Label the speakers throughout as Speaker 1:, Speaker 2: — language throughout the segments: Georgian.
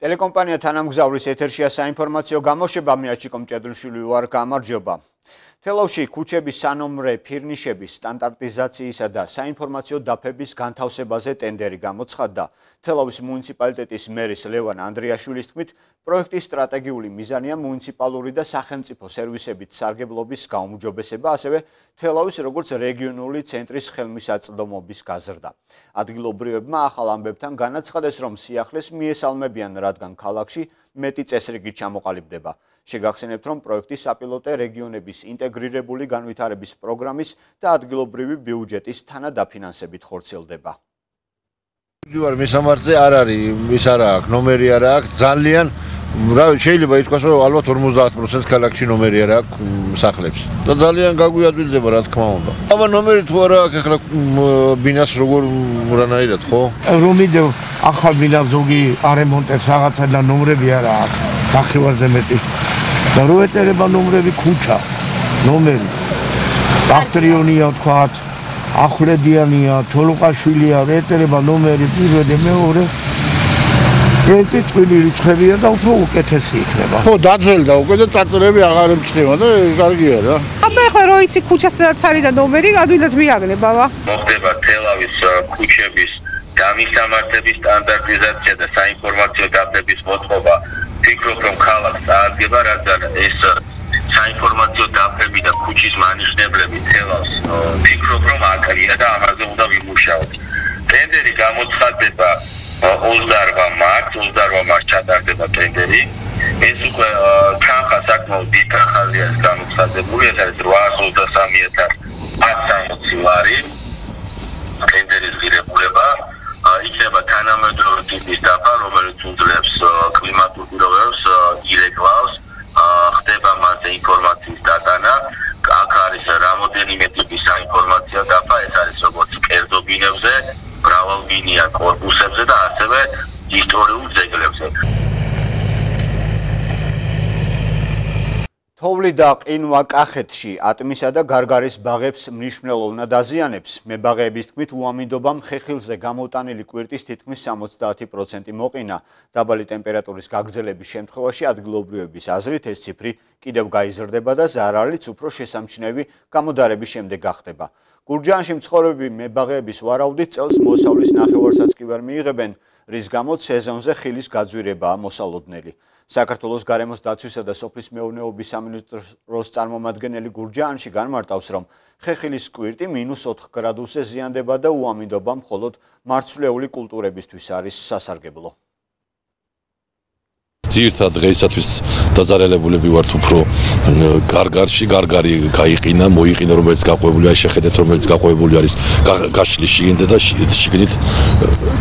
Speaker 1: Telecompanija თანამგზავრის ეთერშია საინფორმაციო გამოშვება მეაჩიკომ ჭედრუშვილი ვარ, გამარჯობა. თელავში ქუჩების სანომრე ფირნიშების სტანდარტიზაციისა და საინფორმაციო დაფების განთავსებაზე ტენდერი გამოცხადდა. თელავის მუნიციპალიტეტის მერის ლევან ანდრიაშვილის თქმით, პროექტის სტრატეგიული მიზანია მუნიციპალური და სახელმწიფო სერვისებით სარგებლობის გაუმჯობესება, ასევე თელავის როგორც რეგიონული ცენტრის ხელმისაწვდომობის გაზრდა. ადგილობრივებმა ახალ ამბებთან განაცხადეს, რომ სიახლეს მიესალმებიან, რადგან ქალაქში მეტი წესრიგი ჩამოყალიბდება. შეგახსენებთ, რომ პროექტის საპილოტე რეგიონების ინტეგრირებული განვითარების პროგრამის და ადგილობრივი ბიუჯეტის თანადაფინანსებით ხორციელდება.
Speaker 2: მისამართზე არ არის, ის არ აქვს, ნომერი არ აქვს, ძალიან შეიძლება ითქვას, რომ ალბათ 50% ქალაქში ნომერი არ აქვს სახლებს. და ძალიან გაგვიადვილდება, რა თქმა უნდა. აბა ნომერი თუ არა აქვს, ახლა ბინას როგორ რანაირად, ხო?
Speaker 3: რომიდევ ახალ ბინას ზოგი არემონტებს რაღაცა და ნომრები არ აქვს. სახევარზე მეტი. და რო ეწერება ნომრები ქუჩა, ნომერი. ბაქტრიონია თქვათ, ახვლედიანია, თოლოყაშვილია, ეწერება ნომერი პირველი, მეორე. პროექტი წვილი რიცხვებია და უფრო უკეთესი იქნება.
Speaker 2: ხო, დაძველდა უკვე და წარწერები აღარ ემჩნევა და კარგია რა.
Speaker 4: აბა ახლა რო იცი ქუჩას სადაც არის და ნომერი, ადვილად მიაგნებ აბა.
Speaker 5: მოხდება თელავის ქუჩების დამისამართების სტანდარტიზაცია და საინფორმაციო დაფების მოწყობა. Ფიქრობ, რომ ქალაქს წააგება, რადგან ეს საინფორმაციო დაფები და ქუჩის მანიშნებლები თელავს ფიქრობ, რომ აკრია და ამაზე უნდა ვიმუშაოთ. ტენდერი გამოცხადდება 28 მარტს ჩატარდება ტენდერი. ეს უკვე თანხა საკმაოდ დიდ თანხაზეა გამოცხადებული, ეს არის 823.160 ლარი. ტენდერის ღირებულება იქნება თანამედროვე ტიპის დაფა, რომელიც უძლებს კლიმატურ პირობებს, ირეკლავს, ხდება მასზე ინფორმაციის დატანა. აქ არის რამოდენიმე ტიპის საინფორმაციო დაფა, ეს არის როგორც კერძო ბინებზე, მრავალბინიან კორპუსებზე და ასევე ისტორიულ ძეგლებზე.
Speaker 1: თოვლი და ყინვა კახეთში ატმისა და გარგარის ბაღებს მნიშვნელოვნად აზიანებს. მებაღეების თქმით, უამინდობამ ხეხილზე გამოტანილი კვირტის თითქმის 70% მოყინა. დაბალი ტემპერატურის გაგრძელების შემთხვევაში ადგილობრივების აზრით ეს ციფრი კიდევ გაიზრდება და ზარალიც უფრო შესამჩნევი გამოდარების შემდეგ გახდება. გურჯაანში მცხოვრები მებაღეების ვარაუდით წელს მოსავლის ნახევარსაც კი ვერ მიიღებენ, რის გამოც სეზონზე ხილის გაძვირებაა მოსალოდნელი. საქართველოს გარემოს დაცვისა და სოფლის მეურნეობის სამინისტროს წარმომადგენელი გურჯაანში განმარტავს, რომ ხეხილის კვირტი -4 გრადუსზე ზიანდება და უამინდობა მხოლოდ მარცვლეული კულტურებისთვის არის სასარგებლო.
Speaker 6: ძირითადად დღეისათვის დაზარალებულები ვართ უფრო გარგარში, გარგარი გაიყინა, მოიყინა, რომელიც გაყვებული არის, შეხედეთ, რომელიც გაყვებული არის გაშლის შიგნით და შიგნით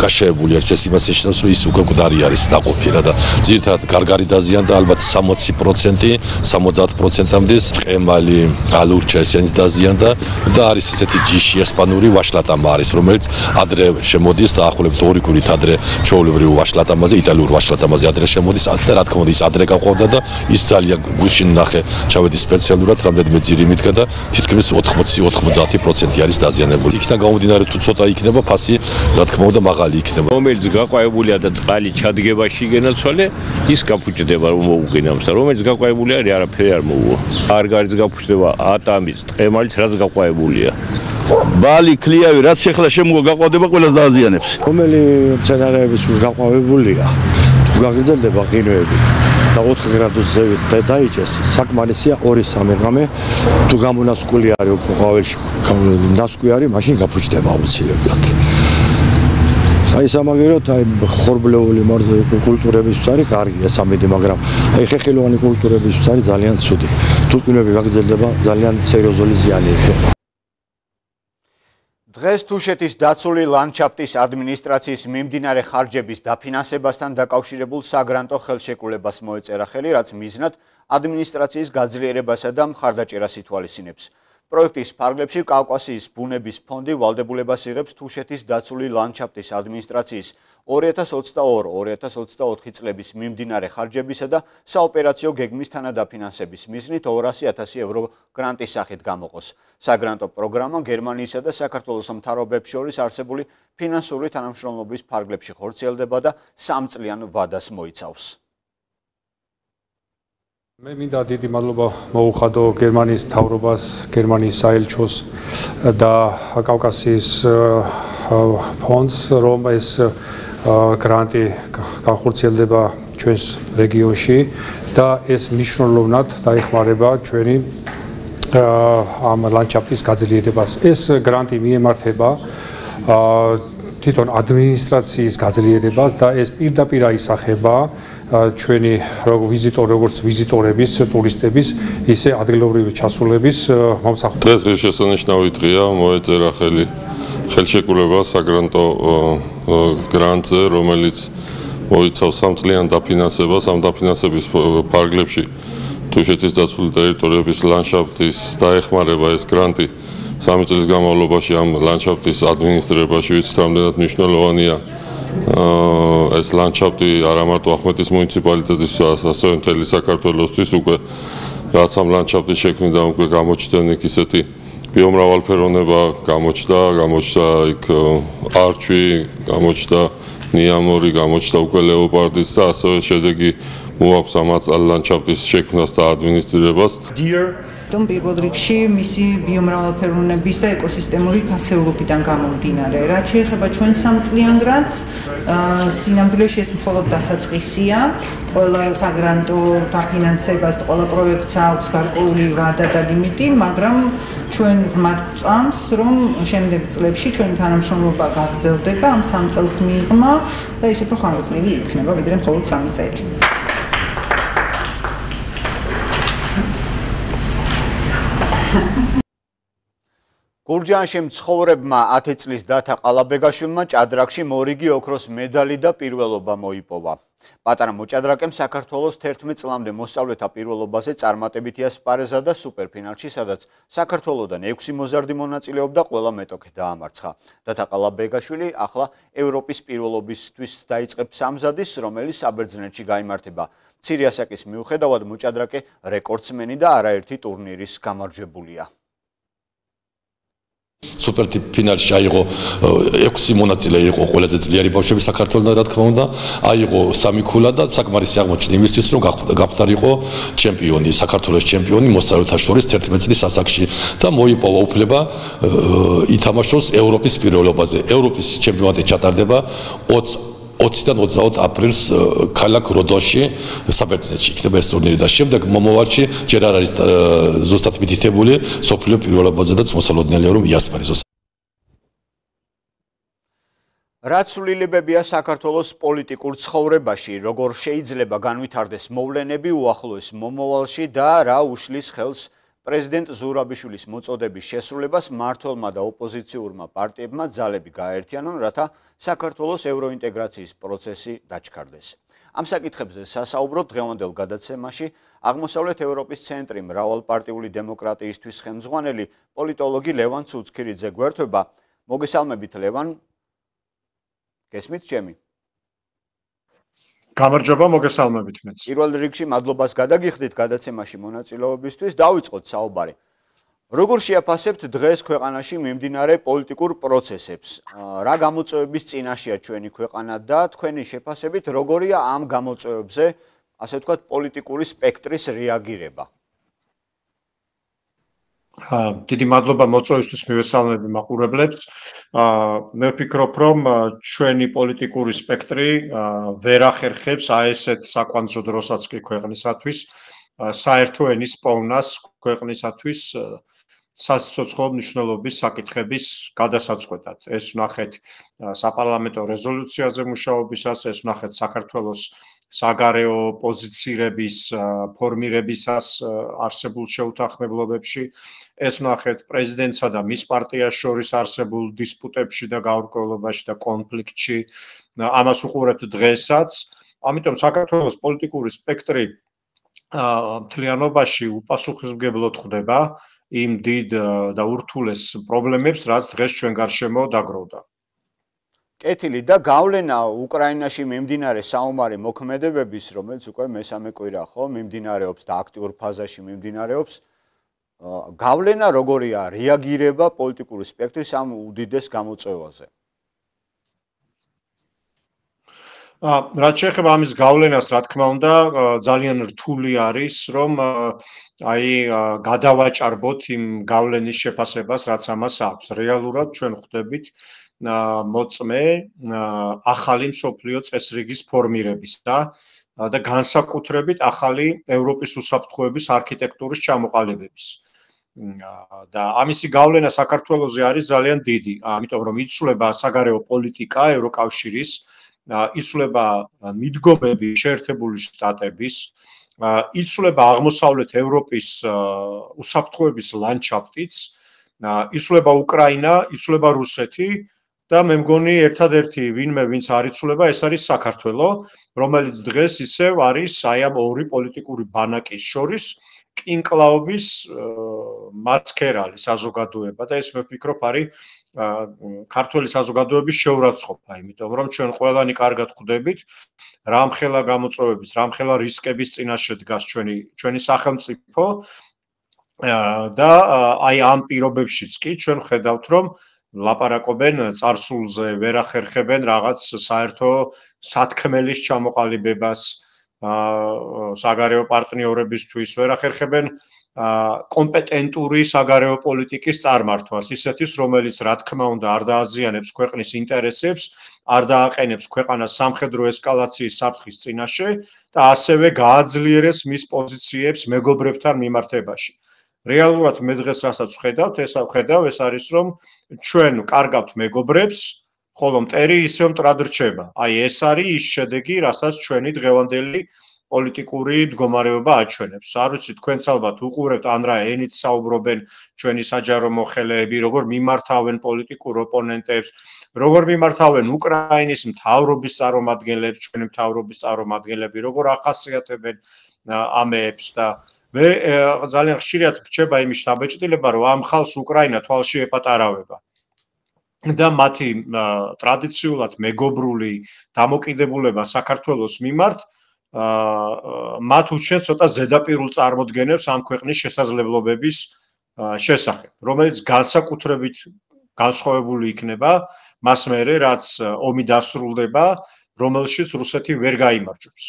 Speaker 6: გაშეებული არის. ეს იმას ნიშნავს, რომ ის უკვე მკვდარი არის დაყოფი რა და ძირითადად გარგარი დაზიანდა ალბათ 60%, 70%-მდე ყემალი, ალურჩა ესენიც დაზიანდა და არის ესეთი ჯიში ესპანური ვაშლატამა არის, რომელიც ადრე შემოდის და ახლობთ 2 კვირით ადრე ჩვეულებრივ ვაშლატამაზე, იტალიურ ვაშლატამაზე ადრე შემოდის. და რა თქმა უნდა ის ადრე გაყვავდა და ის ძალიან გუშინ ნახე ჩავედი სპეციალურად რამდენიმე ძირი მიდგა და თითქმის 80-90% არის დაზიანებული. იქიდან გამომდინარე თუ ცოტა იქნება ფასი რა თქმა უნდა მაღალი იქნება.
Speaker 7: რომელიც გაყვავებულია და წყალი ჩადგებაში გენაცვალე ის გაფუჭდება რომ მოუყინავს და რომელიც გაყვავებული არის არაფერი არ მოუვა. გარგარიც გაფუჭდება ატამის, ტყემალიც რაც გაყვავებულია.
Speaker 8: ბალი, ქლიავი რაც შეხლა შემოვა გაყვავდება ყველას დააზიანებს.
Speaker 3: რომელი მცენარეების გაყვავებულია გაგრძელდება ყინვები და 4 გრადუსზე დაიჭეს. საკმარისია 2-3 ღამე თუ გამონასკველი არის უკვე ყვავილში ნასკვი არის, მაშინ გაფუჭდება აუცილებლად. აი სამაგეროთ აი ხორბლეული კულტურებისთვის არის კარგია სამედი, მაგრამ აი ხეხილოვანი კულტურებისთვის არის ძალიან ცუდი. თუ ყინვები გაგრძელდება, ძალიან სერიოზული ზიანი იქნება.
Speaker 1: დღეს თუშეთის დაცული ლანდშაფტის ადმინისტრაციის მიმდინარე ხარჯების დაფინანსებასთან დაკავშირებულ საგრანტო ხელშეკრულებას მოეწერა ხელი, რაც მიზნად ადმინისტრაციის გაძლიერებასა და მხარდაჭერას ითვალისწინებს. პროექტის ფარგლებში კავკასიის ბუნების ფონდი ვალდებულებას იღებს თუშეთის დაცული ლანდშაფტის ადმინისტრაციის 2022-2024 წლების მიმდინარე ხარჯებისა და საოპერაციო გეგმის თანადაფინანსების მიზნით 200.000 евро გრანტის სახით გამოყოს. საგრანტო პროგრამა გერმანიისა და საქართველოს მთავრობებს შორის არსებული ფინანსური თანამშრომლობის ფარგლებში ხორციელდება და 3 წლიან ვადას მოიცავს.
Speaker 9: მე მინდა დიდი მადლობა მოუხადო გერმანიის მთავრობას, გერმანიის საელჩოს და კავკასიის ფონდს, რომ ეს გრანტი განხორციელდება ჩვენს რეგიონში და ეს მნიშვნელოვნად დაეხმარება ჩვენი ამ ლანდშაფტის გაძლიერებას. ეს გრანტი მიემართება თვითონ ადმინისტრაციის გაძლიერებას და ეს პირდაპირ აისახება ჩვენი როგორც ვიზიტორების, ტურისტების, ისე ადგილობრივი ჩასულების მომსახურების.
Speaker 10: დღეს ღირსშესანიშნავი დღეა, მოეწერა ხელშეკრულება საგრანტო გრანტზე, რომელიც მოიცავს 3 წლიან დაფინანსებას, ამ დაფინანსების ფარგლებში თუშეთის დაცული ტერიტორიების ლანდშაფტის დაეხმარება ეს გრანტი 3 წლის განმავლობაში ამ ლანდშაფტის ადმინისტრირებაში, ვიცით, რამდენად მნიშვნელოვანია ეს ლანდშაფტი არა მარტო ახმეტის მუნიციპალიტეტისთვის, ასევე მთელი საქართველოსთვის უკვე რაც ამ ლანდშაფტის შექმნიდან უკვე გამოჩნდნენ ისეთი ბიომრავალფეროვნება, გამოჩნდა იქ არჩვი, გამოჩნდა ნიამორი, გამოჩნდა უკვე ლეოპარდის და ასევე შედეგი მოაქვს ამ ლანდშაფტის შექმნას და ადმინისტრირებას.
Speaker 11: პირველ რიგში მისი ბიომრავალფეროვნების და ეკოსისტემური ფასეულობიდან გამომდინარე. რაც შეეხება ჩვენ 3 წლიან გრანტს, სინამდვილეში ეს მხოლოდ დასაწყისია. ყველა საგრანტო დაფინანსებას, ყველა პროექტს აქვს გარკვეული ვადა და ლიმიტი, მაგრამ ჩვენ ვწამს, რომ შემდეგ წლებში ჩვენი თანამშრომლობა გაგრძელდება ამ 3 წელს მიღმა და ის უფრო ხანგრძლივი იქნება, ვიდრე მხოლოდ 3 წელი.
Speaker 1: გურჯაანში მცხოვრებმა 10 წლის დათა ყალაბეგაშვილმა ჭადრაკში მორიგი ოქროს მედალი და პირველობა მოიპოვა. პატარა მოჭადრაკემ საქართველოს 11 წლამდე მოსწავლეთა პირველობაზე წარმატებითი ასპარეზა და სუპერფინალში, სადაც საქართველოსდან 6 მოზარდი მონაწილეობდა, ყველა მეტოქე დაამარცხა. დათა ყალაბეგაშვილი ახლა ევროპის პირველობისთვის დაიწყებს სამზადის, რომელიც საბერძნეთში გაიმართება. მცირე ასაკის მიუხედავად მოჭადრაკე რეკორდსმენი და არაერთი ტურნირის გამარჯვებულია.
Speaker 6: სუპერფინალში აიღო 6 მონაწილე იყო ყველაზე ძლიერი ბავშვები საქართველოსთან, რა თქმა უნდა, აიღო 3 ქულა და საკმარისი აღმოჩნდა იმისთვის, რომ გავხდარიყო ჩემპიონი, საქართველოს ჩემპიონი მოსწავლეთა შორის 11 წლის ასაკში და მოიპოვა უფლება ითამაშოს ევროპის პირველობაზე. ევროპის ჩემპიონატი ჩატარდება 20-დან 28 აპრილს ქალაქ როდოში, საბერძნეთში იქნება ეს ტურნირი და შემდეგ მომავალში ჯერ არ არის ზუსტად მითითებული სოფლიო პირველობაზედაც მოსალოდნელია რომ იასპარეზოს.
Speaker 1: რაც სრულილებებია საქართველოს პოლიტიკურ ცხოვრებაში, როგორ შეიძლება განვითარდეს მოვლენები უახლოეს მომავალში და რა უშლის ხელს პრეზიდენტ ზურაბიშვილის მოწოდების შესრულებას მმართველმა და ოპოზიციურმა პარტიებმა ძალები გააერთიანონ, რათა საქართველოს ევროინტეგრაციის პროცესი დაჩქარდეს. ამ საკითხებზე სასაუბროთ დღევანდელ გადაცემაში აღმოსავლეთ ევროპის ცენტრი მრავალპარტიული დემოკრატიისთვის ხელმძღვანელი პოლიტოლოგი ლევან ცუცქირიძე გვერდება. მოგესალმებით ლევან. გესმით ჩემი?
Speaker 12: გამარჯობა, მოგესალმებით მეც.
Speaker 1: პირველ რიგში მადლობას გადაგიხდით გადაცემაში მონაწილეობისთვის. დავიწყოთ საუბარი. როგორ შეაფასებთ დღეს ქვეყანაში მიმდინარე პოლიტიკურ პროცესებს? რა გამოწვევების წინაშეა ჩვენი ქვეყანა და თქვენი შეფასებით როგორია ამ გამოწვევებზე, ასე ვთქვათ, პოლიტიკური სპექტრის რეაგირება?
Speaker 12: დიდი მადლობა მოწვევისთვის, მივესალმები მაყურებლებს. მე ვფიქრობ, რომ ჩვენი პოლიტიკური სპექტრი ვერ ახერხებს ესეთ საკვანძო დროსაც კი ქვეყნისათვის, საერთო ენის პოვნას ქვეყნისათვის სასიცოცხლო მნიშვნელობის საკითხების გადასაწყვეტად. ეს ვნახეთ საპარლამენტო რეზოლუციაზე მუშაობისას, ეს ვნახეთ საქართველოს საგარეო პოზიცირების ფორმირებისას არსებულ შეუთანხმებლობებში, ეს ვნახეთ პრეზიდენტსა და მის პარტიას შორის არსებულ დისპუტებში და გაურკვევლობაში და კონფლიქტში. ამას უყურებთ დღესაც. ამიტომ საქართველოს პოლიტიკური სპექტრი მთლიანობაში უპასუხისმგებლოდ ხდება იმ დიდ და ურთულეს პრობლემებს, რაც დღეს ჩვენ გარშემო დაგროვდა.
Speaker 1: კეთილი და გავლენა უკრაინაში მიმდინარე საომარი მოქმედებების, რომელიც უკვე მესამე კვირა ხო მიმდინარეობს და აქტიურ ფაზაში მიმდინარეობს, გავლენა როგორია რეაგირება პოლიტიკური სპექტრის ამ უდიდეს გამოწვევაზე?
Speaker 12: რაც შეეხება ამის გავლენას, რა თქმა უნდა, ძალიან რთული არის, რომ აი გადავაჭარბოთ იმ გავლენის შეფასებას, რაც ამას აქვს. რეალურად ჩვენ ხვდებით მოწმე ახალი მსოფლიო წესრიგის ფორმირებისა და განსაკუთრებით ახალი ევროპის უსაფრთხოების არქიტექტურის ჩამოყალიბების. და ამისი გავლენა საქართველოზე არის ძალიან დიდი, ამიტომ რომ იცვლება საგარეო პოლიტიკა ევროკავშირის, იცვლება მიდგომები შეერთებული შტატების, იცვლება აღმოსავლეთ ევროპის უსაფრთხოების ლანდშაფტიც, იცვლება უკრაინა, იცვლება რუსეთი და მე მგონი ერთადერთი ვინმე ვინც არ იცვლება, ეს არის საქართველო, რომელიც დღეს ისევ არის აი ამ ორი პოლიტიკური ბანაკის შორის კინკლაობის მაცქერალი საზოგადოება და ეს მე ვფიქრობ არის ქართული საზოგადოების შეურაცხყოფა, იმიტომ რომ ჩვენ ყველანი კარგად ხვდებით რამხელა გამოწვევების, რამხელა რისკების წინაშე დგას ჩვენი სახელმწიფო და აი ამ პირობებშიც კი ჩვენ ხედავთ რომ ლაპარაკობენ წარსულზე, ვერ ახერხებენ რაღაც საერთო სათქმელის ჩამოყალიბებას საგარეო პარტნიორებისთვის, ვერ ახერხებენ კომპეტენტური საგარეო პოლიტიკის წარმართვას, ისეთის, რომელიც რა თქმა უნდა არ დააზიანებს ქვეყნის ინტერესებს, არ დააყენებს ქვეყანას სამხედრო ესკალაციის საფრთხის წინაშე და ასევე გააძლიერებს მის პოზიციებს მეგობრებთან მიმართებაში. რეალურად მე დღეს რასაც ვხედავთ, ეს არის რომ ჩვენ კარგავთ მეგობრებს, ხოლო მტერი ისევ მტრად რჩება. აი ეს არის ის შედეგი, რასაც ჩვენი დღევანდელი პოლიტიკური მდგომარეობა აჩვენებს. არ ვიცი, თქვენც ალბათ უყურებთ ან რა ენით საუბრობენ ჩვენი საჯარო მოხელეები, როგორ მიმართავენ პოლიტიკურ ოპონენტებს, როგორ მიმართავენ უკრაინის მთავრობის წარმომადგენლებს, ჩვენი მთავრობის წარმომადგენლები, როგორ ახასიათებენ ამებს და მე ძალიან ხშირად რჩება იმის დაბეჭდილება, რომ ამ ხალხს უკრაინა თვალში ეპატარავება. და მათი ტრადიციულად მეგობრული დამოკიდებულება საქართველოს მიმართ მათ უშენს ცოტა ზედაპირულ წარმოდგენებს ამ ქვეყნის შესაძლებლობების შესახებ, რომელიც განსაკუთრებით განსხვავებული იქნება მას მერე, რაც ომი დასრულდება, რომელშიც რუსეთი ვერ გაიმარჯვებს.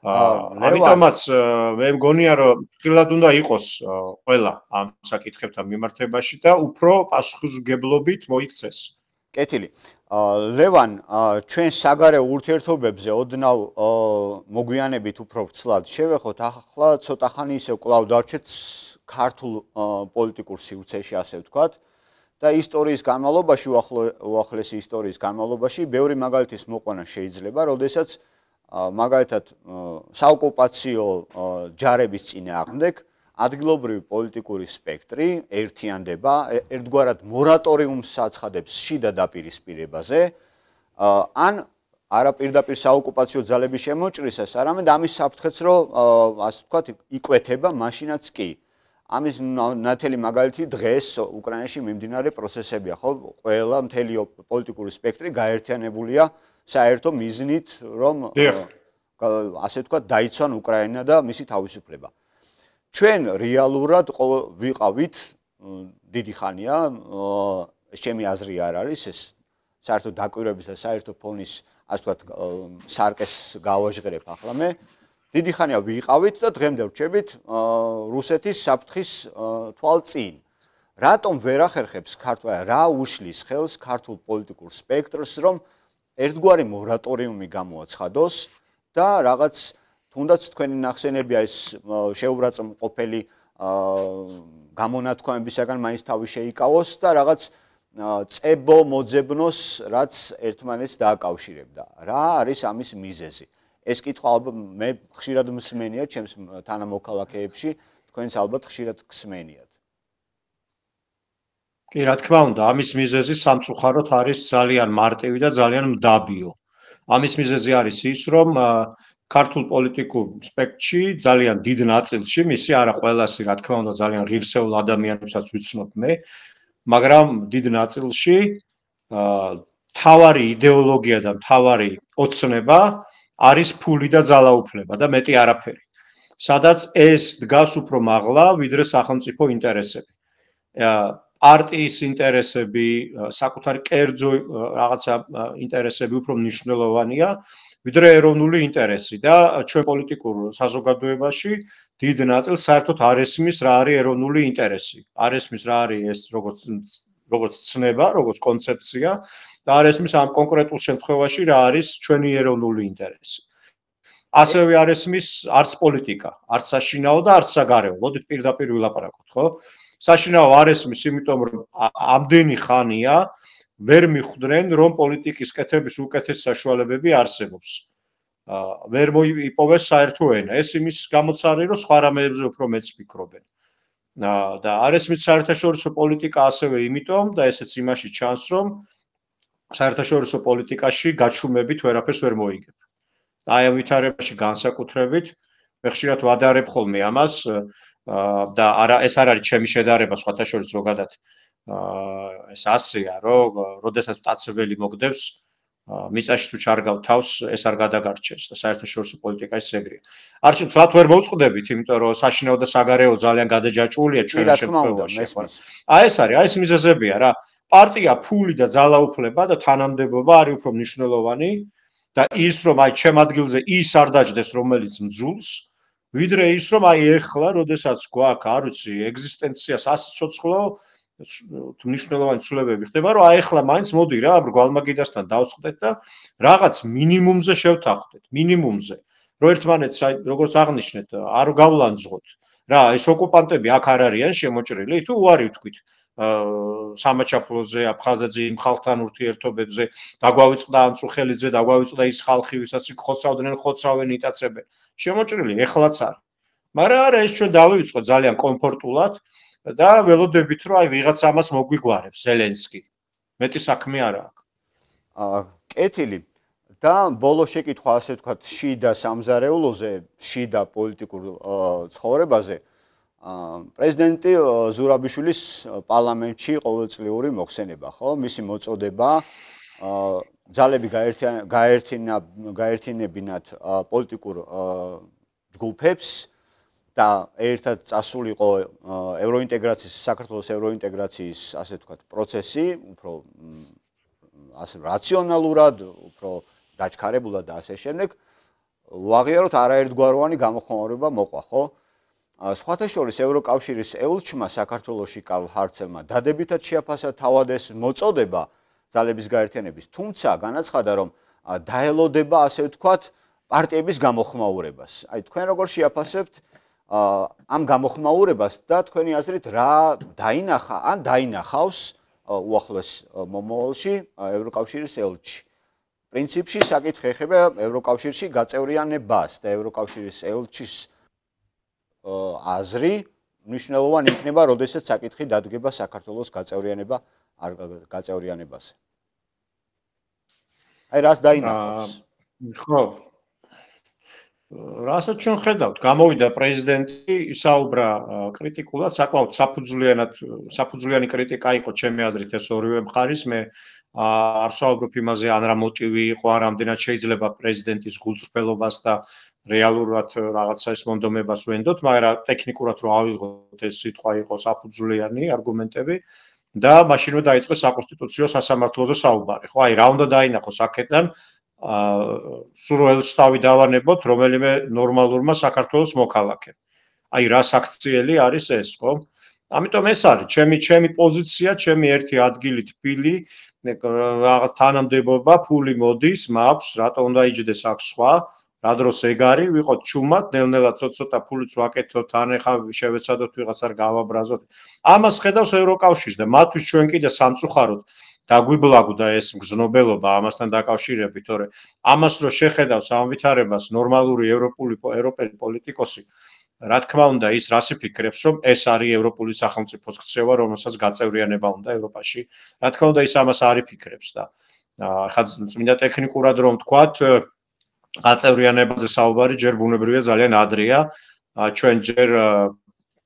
Speaker 12: ამიტომაც მე მგონია, რომ ფრთხილად უნდა იყოს ყველა ამ საკითხებთან მიმართებაში და უფრო პასუხისმგებლობით მოიქცეს.
Speaker 1: კეთილი. ლევან, ჩვენ საგარეო ურთიერთობებზე ოდნავ მოგვიანებით უფრო ცლად შევეხოთ, ახლა ცოტა ხანი ისევ კვლავ დარჩეთ ქართულ პოლიტიკურ სივრცეში, ასე ვთქვათ. და ისტორიის განმავლობაში, უახლესი ისტორიის განმავლობაში, ბევრი მაგალითის მოყვანა შეიძლება, როდესაც მაგალითად საოკუპაციო ჯარების წინააღმდეგ ადგილობრივი პოლიტიკური სპექტრი ერთიანდება, ერთგვარად მორატორიუმს აცხადებს შიდა დაპირისპირებაზე, ან არა პირდაპირ საოკუპაციო ძალების შემოჭრისას, არამედ ამის საფრთხეც, რომ ასე ვთქვათ, იკვეთება მაშინაც კი. ამის ნათელი მაგალითი დღეს უკრაინაში მიმდინარე პროცესებია, ხო? ყველა მთელი პოლიტიკური სპექტრი გაერთიანებულია საერთო მიზნით, რომ ასე ვთქვათ, დაიცვან უკრაინა და მისი თავისუფლება. ჩვენ რეალურად ვიყავით დიდი ხანია, ჩემი აზრი არ არის, ეს საერთო დაკვირვების და საერთო ფონის, ასე ვთქვათ, სარკეს გავაჟღერებ ახლა მე. დიდი ხანია ვიყავით და დღემდე ვრჩებით რუსეთის საფრთხის თვალწინ. რატომ ვერ ახერხებს ქართული, რა უშლის ხელს ქართულ პოლიტიკურ სპექტრს, რომ ერთგვარი მორატორიუმი გამოაცხადოს და რაღაც თუნდაც თქვენი ნახსენებია ეს შეურაცხმყოფელი გამონათქვამებისაგან მაინც თავი შეიკავოს და რაღაც წებო მოძებნოს, რაც ერთმანეთს დააკავშირებდა. რა არის ამის მიზეზი? ეს კითხვა მე ხშირად მსმენია ჩემს თანამოქალაქეებში, თქვენც ალბათ ხშირად გსმენიათ.
Speaker 12: კი, რა თქმა უნდა, ამის მიზეზი სამწუხაროდ არის ძალიან მარტივი და ძალიან მდაბიო. ამის მიზეზი არის ის, რომ ქართულ პოლიტიკურ სპექტრში ძალიან დიდ ნაწილში, მისი არა ყველასი, რა თქმა უნდა, ძალიან ღირსეულ ადამიანებსაც ვიცნობ მე, მაგრამ დიდ ნაწილში თავარი იდეოლოგია და თავარი ოცნება არის ფული და ძალაუფლება და მეტი არაფერი. სადაც ეს დგას უფრო მაღლა, ვიდრე სახელმწიფო ინტერესები. პარტიის ინტერესები, საკუთარი კერძო რაღაცა ინტერესები უფრო მნიშვნელოვანია, ვიდრე ეროვნული ინტერესი და ჩვენ პოლიტიკურ საზოგადოებაში დიდ ნაწილს საერთოდ არ ესმის რა არის ეროვნული ინტერესი. არ ესმის რა არის ეს როგორც ცნება, როგორც კონცეფცია და არ ესმის ამ კონკრეტულ შემთხვევაში რა არის ჩვენი ეროვნული ინტერესი. ასევე არ ესმის არც პოლიტიკა, არც საშინაო და არც საგარეო. მოდით პირდაპირ ვილაპარაკოთ, ხო? საშინაო არ ესმის, იმიტომ რომ ამდენი ხანია ვერ მიხვდნენ, რომ პოლიტიკის კეთების უკეთესი საშუალებები არსებობს. ვერ მოიპოვეს საერთო ენა. ეს იმის გამოცარი, რომ სხვა რამეებზე უფრო მეც ფიქრობენ. და არ ესმის საერთაშორისო პოლიტიკა ასევე იმიტომ და ესეც იმაში ჩანს, რომ საერთაშორისო პოლიტიკაში გაჩუმებით ვერაფერს ვერ მოიგებ. აი ამ ვითარებაში განსაკუთრებით მე ხშირად ვადარებ ხოლმე ამას და ეს არ არის ჩემი შედარება სხვათა შორის ზოგადად ეს ასეა რომ როდესაც მტაცებელი მოგდებს მიწაში თუ ჩარგავ თავს ეს არ გადაგარჩენს და საერთაშორისო პოლიტიკაში ეგრეა. არჩევ თვათ ვერ მოვწყდებით, იმიტომ რომ საშინაო და საგარეო ძალიან გადაჯაჭვულია ჩვენ შემთხვევაში. აი ეს არის, აი ეს მიზეზებია რა. პარტია, ფული და ძალაუფლება და თანამდებობა არის უფრო მნიშვნელოვანი და ის რომ აი ჩემ ადგილზე ის არ დაждდეს რომელიც მძულს, ვიდრე ის რომ აი ეხლა, როდესაც გვაქვს, არ ვიცი, ეგზისტენციას ასე ცოცხლო მნიშვნელოვანი ცვლილებები ხდება, რომ აი ეხლა მაინც მოდი რა, ბრგვალმაგიდასთან დავწყდეთ და რაღაც მინიმუმზე შევთანხმდეთ, მინიმუმზე. რომ ერთმანეთს აი როგორც აღნიშნეთ, არ გავლანძღოთ. რა, ეს ოკუპანტები აქ არ არიან შემოჭრილი, თუ უარი ვთქვით. სამაჩაფლოზე, აფხაზეთზე, იმ ხალხთან ურთიერთობებზე, დაგვავიწყდა ამწუხელიძე, დაგვავიწყდა ის ხალხი, ვისაც იქ ხოცავდნენ, ხოცავენ, იტაცებენ. შემოჭრილი ეხლაც არ. მაგრამ არა, ეს ჩვენ დავივიწყოთ ძალიან კომფორტულად და ველოდებით, რომ აი ვიღაც ამას მოგვიგვარებს, ზელენსკი. მეტი საქმე არა აქვს.
Speaker 1: კეთილი. და ბოლო შეკითხვა, ასე ვთქვათ, შიდა სამზარეულოზე, შიდა პოლიტიკურ ცხოვრებაზე. პრეზიდენტი ზურაბიშვილის პარლამენტში ყოველწლიური მოხსენება, ხო? მისი მოწოდება ძალები გაერთიანებინათ პოლიტიკურ ჯგუფებს და ერთად წასულიყო ევროინტეგრაციის, საქართველოს ევროინტეგრაციის, ასე ვთქვათ, პროცესი, უფრო ასე რაციონალურად, უფრო დაჩქარებულად და ასე შემდეგ, ვაღიაროთ არაერთგვაროვანი გამოხმაურება მოყვა, ხო? სხვათა შორის ევროკავშირის ელჩმა საქართველოში კარლ ჰარცელმა დადებითად შეაფასა თავად ეს მოწოდება ძალების გაერთიანების, თუმცა განაცხადა, რომ დაელოდება, ასე ვთქვათ, პარტიების გამოხმაურებას. აი თქვენ როგორ შეაფასებთ ამ გამოხმაურებას და თქვენი აზრით რა დაინახა ან დაინახავს უახლოეს მომავალში ევროკავშირის ელჩი. პრინციპში საკითხი ეხება ევროკავშირში გაწევრიანებას და ევროკავშირის ელჩის აზრი მნიშვნელოვანი იქნება, როდესაც საკითხი დადგება საქართველოს გაწევრიანებაზე. აი რას დაინახავს?
Speaker 12: ხო. რასაც ჩვენ ხედავთ, გამოვიდა პრეზიდენტი, ისაუბრა კრიტიკულად, საკმაოდ საფუძვლიანი კრიტიკა იყო ჩემი აზრით ეს ორივე მხარის. მე არ საუბრობ იმაზე, ან რა მოტივი იყო, ან რამდენად შეიძლება პრეზიდენტის გულწრფელობას და რეალურად რაღაცა ეს მონდომებას ვენდოთ, მაგრამ ტექნიკურად რო ავიღოთ ეს სიტყვა იყო საფუძვლიანი არგუმენტები და მაშინვე დაიწყეს საკონსტიტუციო სასამართლოზე საუბარი. ხო, აი რა უნდა დაინახოს აქედან სულ ელჩთავი დავანებოთ რომელიმე ნორმალურმა საქართველოს მოქალაქემ. აი რა საქციელი არის ეს, ხო? ამიტომ ეს არის ჩემი პოზიცია, ჩემი ერთი ადგილი თბილი, რაღაც თანამდებობა, ფული მოდის, მაქვს, რატო უნდა იჯდეს აქ სხვა? რა დროს ეგ არის, ვიყოთ ჩუმად, ნელ-ნელა ცოტა ფულიც ვაკეთოთ, ან ეხა შევეცადოთ ვიღაცარ გავაბრაზოთ. ამას ხედავს ევროკავშირი და მათთვის ჩვენ კიდე სამწუხაროდ დაგვიბლაგდა ეს მგზნობელობა ამასთან დაკავშირებით, თორე ამას რო შეხედავს ამ ვითარებას ნორმალური ევროპელი პოლიტიკოსი, რა თქმა უნდა, ის რას იფიქრებს, რომ ეს არის ევროპული სახელმწიფოს ქცევა, რომელსაც გაწევრიანება უნდა ევროპაში. რა თქმა უნდა, ის ამას არ იფიქრებს და ხა წმინდა ტექნიკურად რომ ვთქვათ, გაწევრიანებაზე საუბარი ჯერ ბუნებრივია ძალიან ადრეა. ჩვენ ჯერ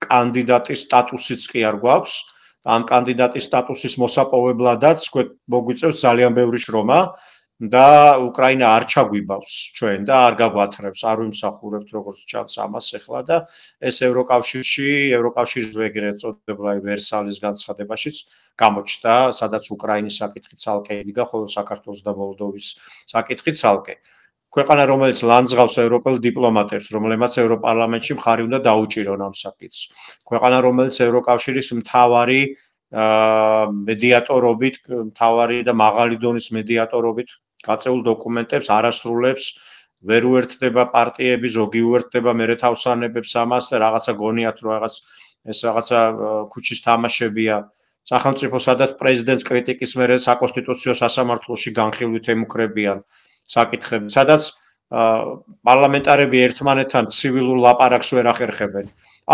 Speaker 12: კანდიდატის სტატუსიც კი არ გვაქვს. ამ კანდიდატის სტატუსის მოსაპოვებლადაც მოგვიწევს ძალიან ბევრი შრომა და უკრაინა არ ჩაგვიბავს ჩვენ და არ გაგვათრევს, არ ვიმსახურებთ როგორც ჩანს ამას ახლა და ეს ევროკავშირის ეგრეთ წოდებული ვერსალის განცხადებაშიც გამოჩნდა, სადაც უკრაინის საკითხი ცალკე იდგა, ხოლო საქართველოს და მოლდოვის საკითხი ცალკე. ქვეყანა, რომელიც ლანძღავს ევროპელ დიპლომატებს, რომლებმაც ევროპარლამენტში მხარი უნდა დაუჭირონ ამ საკითხს. ქვეყანა, რომელიც ევროკავშირის მთავარი მედიატორობით, მთავარი და მაღალი დონის მედიატორობით გაწეულ დოკუმენტებს არასრულებს, ვერ უერთდება პარტიები, ზოგი უერთდება მერე თავსანებებს ამას და რაღაცა გონიათ, რომ ეს რაღაცა ქუჩის თამაშებია. სახელმწიფო, სადაც პრეზიდენტს კრიტიკის მერე საკონსტიტუციო სასამართლოში განხილვით ემუქრებიან საკითხები, სადაც პარლამენტარები ერთმანეთთან ცივილურ ლაპარაკს ვერ ახერხებენ.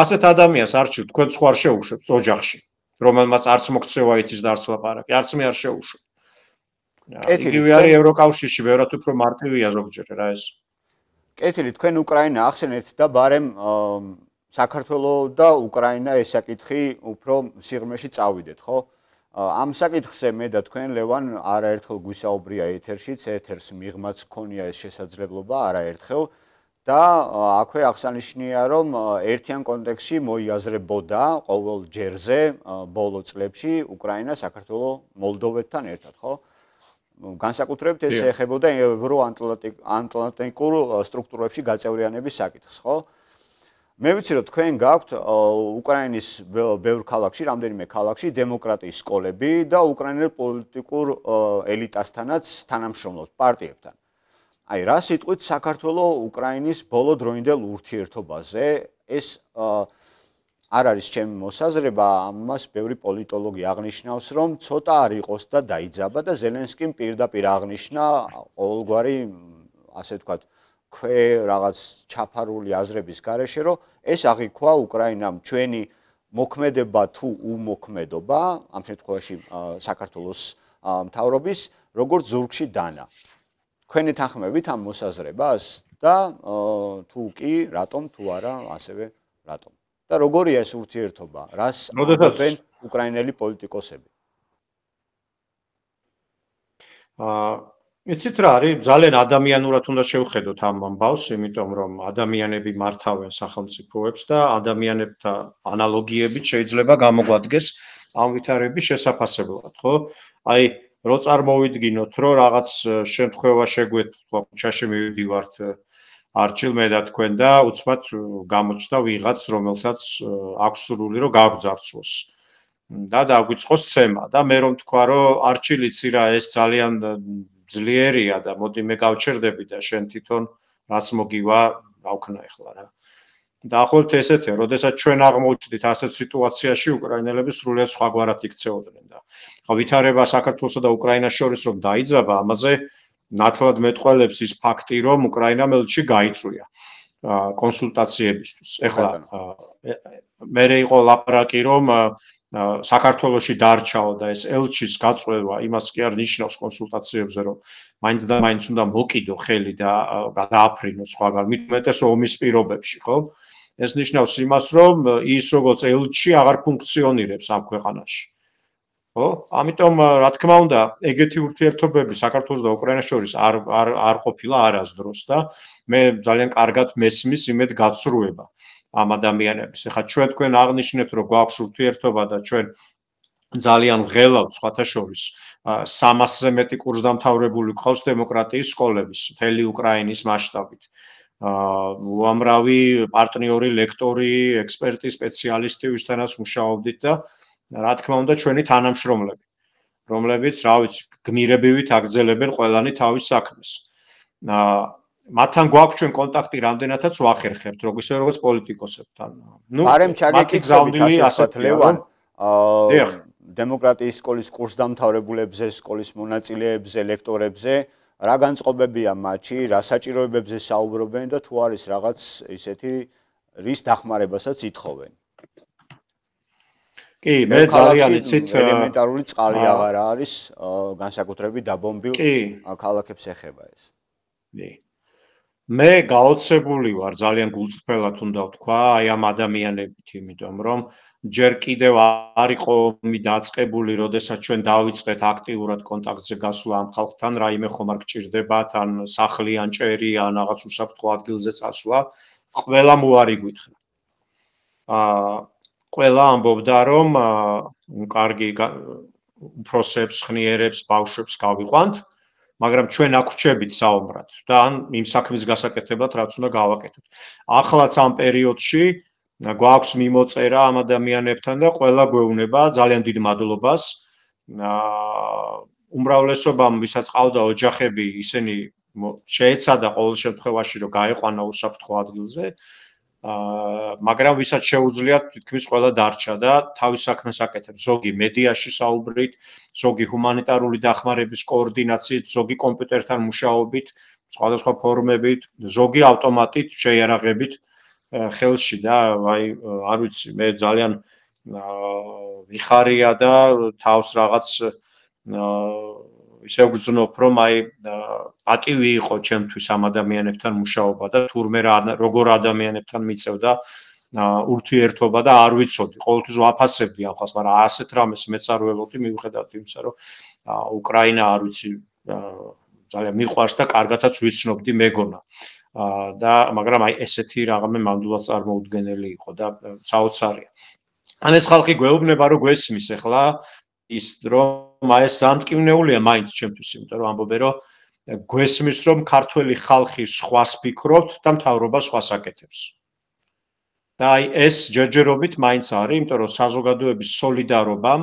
Speaker 12: ასეთ ადამიანს არჩევთ, თქვენ სხვა არ შეუშვებთ ოჯახში, რომელმაც არც მოქცევა იცის და არც ლაპარაკი, არც მე არ შეუშვებ. იგივე არის ევროკავშირში, ბევრად უფრო მარტივია ზოგჯერ რა ეს.
Speaker 1: კეთილი, თქვენ უკრაინა ახსენეთ და ბარემ საქართველოს და უკრაინა ეს საკითხი უფრო სიღრმეში წავიდეთ, ხო? ამ საკითხზე მე და თქვენ ლევან არაერთხელ გვისაუბრია ეთერშიც, ეთერს მიღმაც ქონია ეს შესაძლებლობა არაერთხელ და აქვე აღსანიშნია, რომ ერთიან კონტექსტში მოიაზრებოდა ყოველ ჯერზე ბოლო წლებში უკრაინა საქართველოს მოლდოვეთთან ერთად, ხო? განსაკუთრებით ეს ეხებოდა ევროატლანტიკურ სტრუქტურებში გაწევრიანების საკითხს, ხო? მე ვიცი, რომ თქვენ გაქვთ უკრაინის ბევრ ქალაქში, რამდენიმე ქალაქში დემოკრატიის სკოლები და უკრაინელ პოლიტიკურ ელიტასთანაც თანამშრომლობთ პარტიებთან. აი, რა სიტყვით საქართველოს უკრაინის ბოლო დროინდელ ურთიერთობაზე ეს არ არის ჩემი მოსაზრება, ამას ბევრი პოლიტოლოგი აღნიშნავს, რომ ცოტა არ იყოს და დაიძაბა და ზელენსკიმ პირდაპირ აღნიშნა ყოველგვარი, ასე ვთქვათ, რაღაც ჩაფარული აზრების გარეშე, რომ ეს აღიქვა უკრაინამ ჩვენი მოქმედება თუ უმოქმედობა, ამ შემთხვევაში საქართველოს მთავრობის, როგორც ზურგში დანა. თქვენი თანხმებით ამ მოსაზრებას და თუ კი, რატომ, თუ არა, ასევე რატომ. და როგორია ეს ურთიერთობა, რას ამბობენ უკრაინელი პოლიტიკოსები?
Speaker 12: იცით რა არის, ძალიან ადამიანურად უნდა შევხედოთ ამ ამბავს, იმიტომ რომ ადამიანები მართავენ სახელმწიფოებს და ადამიანებთან ანალოგიებით შეიძლება გამოგვადგეს ამ ვითარების შესაფასებლად, ხო? აი, რო წარმოვიდგინოთ, რომ რაღაც შემთხვევა შეგვეთქვა, ქუჩაში მივიდივართ არჩილ მე და თქვენ და უცბად გამოჩნდა ვიღაც, რომელსაც აქვს სურვილი, რომ გაგვძარცვოს. და დაგვიწყოს ცემა და მე რომ თქვა, რომ არჩილ იცი რა, ეს ძალიან ძლიერია და მოდი მე გავჩერდები და შენ თვითონ რაც მოგივა გავქნა ახლა რა. დაახლოებით ესეთია, როდესაც ჩვენ აღმოჩნდით ასეთ სიტუაციაში უკრაინელები სრულიად სხვაგვარად იქცეოდნენ და ხო ვითარება საქართველოსა და უკრაინას შორის რომ დაიძაბა, ამაზე ნათლად მეტყველებს ის ფაქტი, რომ უკრაინამ ელჩი გაიწვია კონსულტაციებისთვის. ეხლა მე იყო ლაპარაკი, რომ საქართველოში დარჩაო და ეს ელჩის გაწვევა იმას კი არ ნიშნავს კონსულტაციებზე, რომ მაინც და მაინც უნდა მოკიდო ხელი და გადააფრინო სხვაგან, მით უმეტეს ომის პირობებში, ხო? ეს ნიშნავს იმას, რომ ის როგორც ელჩი აღარ ფუნქციონირებს ამ ქვეყანაში. ხო? ამიტომ რა თქმა უნდა, ეგეთი ურთიერთობები საქართველოს და უკრაინას შორის არ ყოფილა არასდროს და მე ძალიან კარგად მესმის იმედ გაცრუება ამ ადამიანების. ეხლა ჩვენ თქვენ აღნიშნეთ, რომ გვაქვს ურთიერთობა და ჩვენ ძალიან ღელავთ სხვათა შორის 300-ზე მეტი კურსდამთავრებული ყავს დემოკრატიის სკოლების მთელი უკრაინის მასშტაბით. უამრავი პარტნიორი, ლექტორი, ექსპერტი, სპეციალისტი, ვისთანაც მუშაობდით და რა თქმა უნდა ჩვენი თანამშრომლები, რომლებიც, რა ვიცი, გმირებივით აგრძელებენ ყველანი თავის საქმეს. მათთან გვაქვს ჩვენ კონტაქტი რამდენადაც ვახერხებთ, როგორც პოლიტიკოსებთან.
Speaker 1: ბარემ ჩაგეკითხებით ასეთ ლევან, დემოკრატიის სკოლის კურსდამთავრებულებზე, სკოლის მონაწილეებზე, ლექტორებზე, რა განწყობებია მათში, რა საჭიროებებზე საუბრობენ და თუ არის რაღაც ისეთი, რის დახმარებასაც ითხოვენ.
Speaker 12: კი, მე ძალიან იცით,
Speaker 1: ელემენტარული წყალი აღარ არის, განსაკუთრებით დაბომბილ ქალაქებს ეხება ეს.
Speaker 12: კი. მე გაოცებული ვარ ძალიან გულწრფელად უნდა ვთქვა აი ამ ადამიანებით, იმიტომ რომ ჯერ კიდევ არ იყო დაწყებული, როდესაც ჩვენ დავიწყეთ აქტიურად კონტაქტზე გასვლა ამ ხალხთან, რაიმე ხომ არ გჭირდებათ, ან სახლი, ან ჭერი, ან რაღაც უსაფრთხო ადგილზე წასვლა, ყველამ უარი გითხრა. ყველა ამბობდა, რომ კარგი უფროსებს, ხნიერებს, ბავშვებს გავიყვანთ, მაგრამ ჩვენ აქვჩებით საომრად და ან იმ საქმის გასაკეთებლად რაც უნდა გავაკეთოთ. ახლაც ამ პერიოდში გვაქვს მიმოწერა ამ ადამიანებთან და ყველა გვეუბნება ძალიან დიდ მადლობას. უმრავლესობამ, ვისაც ყავდა ოჯახები, ისინი შეეცადა ყოველ შემთხვევაში, რომ გაეყვანა უსაფრთხო ადგილზე. მაგრამ ვისაც შეუძლიათ, თითქმის ყველა დარჩა და თავის საქმეს აკეთებს. ზოგი მედიაში საუბრით, ზოგი ჰუმანიტარული დახმარების კოორდინაციით, ზოგი კომპიუტერთან მუშაობით, სხვადასხვა ფორმებით, ზოგი ავტომატით, შეიარაღებით ხელში და აი არ ვიცი, მე ძალიან ვიხარია და თავს რაღაც ისე ვგრძნობ, რომ აი პატივი იყო ჩემთვის ამ ადამიანებთან მუშაობა და თურმე როგორ ადამიანებთან მიწევდა ურთიერთობა და არ ვიცოდი, ყოველთვის ვაფასებდი ამ ხალხს, მაგრამ ასეთ რამეს მეც არ ველოდი, მიუხედავად იმისა, რომ უკრაინა არ ვიცი ძალიან მიყვარს და კარგათაც ვიცნობდი მეგონა. და მაგრამ აი ესეთი რაღაცა მანდულად წარმოუდგენელი იყო და საოცარია. ან ეს ხალხი გვეუბნება, რომ გვესმის ახლა ის რომ აი ეს სამტკივნეულია მაინც ჩემთვის, იმიტომ რომ ამბობენ, რომ გვესმის, რომ ქართველი ხალხი სხვას ფიქრობთ და მთავრობა სხვას აკეთებს. და აი ეს ჯერჯერობით მაინც არის, იმიტომ რომ საზოგადოების სოლიდარობამ,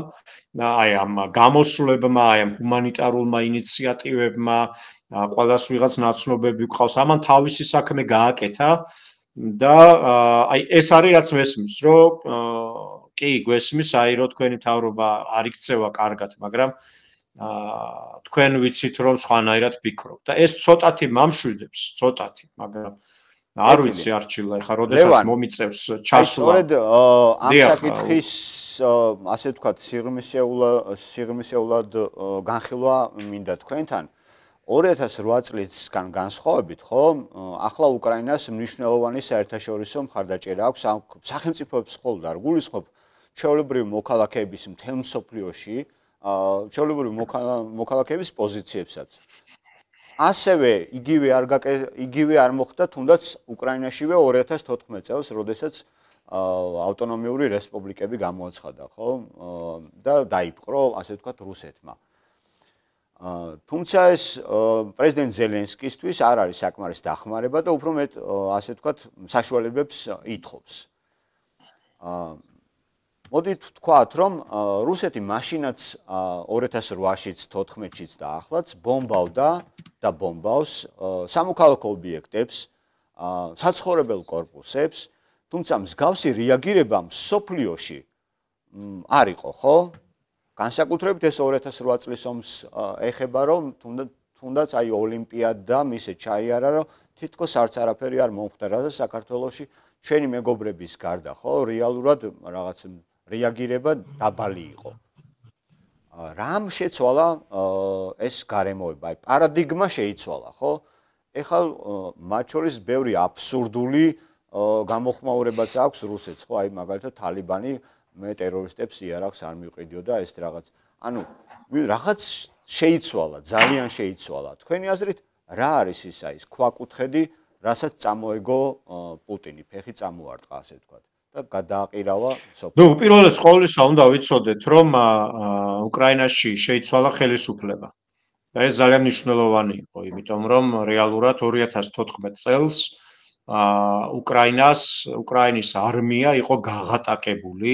Speaker 12: აი ამ გამოსვლებმა, აი ამ ჰუმანიტარულმა ინიციატივებმა, ყველას ვიღაც ნაცნობები გვყავს, ამან თავისი საქმე გააკეთა და აი ეს არის რაც მესმის, რომ კი გვესმის, აი რომ თქვენი მთავრობა არ იქცევა კარგად, მაგრამ თქვენ ვიცით რომ სხვანაირად ფიქრობთ და ეს ცოტათი მამშვიდებს, ცოტათი, მაგრამ არ ვიცი არჩილა, ეხლა როდესაც მომიწევს ჩასვლა.
Speaker 1: სწორედ ამ საკითხის ასე ვთქვათ, სიღრმისეულად განხილვა მინდა თქვენთან. 2008 წლისგან განსხვავებით, ხო, ახლა უკრაინას მნიშვნელოვანი საერთაშორისო მხარდაჭერა აქვს სახელმწიფოებს მხოლოდ არ გულისხმობ ჩვეულებრივი მოქალაქეების მთელ მსოფლიოში, ჩვეულებრივი მოქალაქეების პოზიციებსაც. ასევე იგივე არ მოხდა თუნდაც უკრაინაშივე 2014 წელს, როდესაც ავტონომიური რესპუბლიკები გამოაცხადა, ხო? და დაიპყრო, ასე ვთქვათ, რუსეთმა. თუმცა ეს პრეზიდენტ ზელენსკისთვის არ არის საკმარის დახმარება და უფრო მეტ, ასე ვთქვათ, საშუალებებს ითხოვს. მოდით ვთქვათ, რომ რუსეთი მაშინაც 2008-შიც, 2014-შიც და ახლაც ბომბავდა და ბომბავს სამოქალაქო ობიექტებს, საცხოვრებელ კორპუსებს, თუმცა მსგავსი რეაგირება მსოფლიოში არ იყო, ხო? განსაკუთრებით ეს 2008 წლის ომს ეხება, რომ თუნდაც აი ოლიმპიადა მისე ჩაიარა, რომ თითქოს არც არაფერი არ მომხდარა და საქართველოში ჩვენი მეგობრების გარდა, ხო, რეალურად რაღაც რეაგირება დაბალი იყო. რამ შეცვალა ეს გარემოება, აი პარადიგმა შეიცვალა, ხო? ეხლა მათ შორის ბევრი აბსურდული გამოხმაურებაც აქვს რუსეთს, ხო, აი მაგალითად თალიბანი მე ტერორისტებს იარაღს არ მივყიდიო და ეს რაღაც. ანუ რაღაც შეიცვალა, ძალიან შეიცვალა. თქვენი აზრით, რა არის ის ქვაკუთხედი, რასაც წამოეგო პუტინი, ფეხი წამოარტყა, ასე ვთქვათ, და გადააყირავა სოფლიო.
Speaker 12: ნუ პირველეს ყოვლისა უნდა ვიცოდეთ, რომ უკრაინაში შეიცვალა ხელისუფლება. და ეს ძალიან მნიშვნელოვანი იყო, იმიტომ რომ რეალურად 2014 წელს უკრაინის არმია იყო გაღატაკებული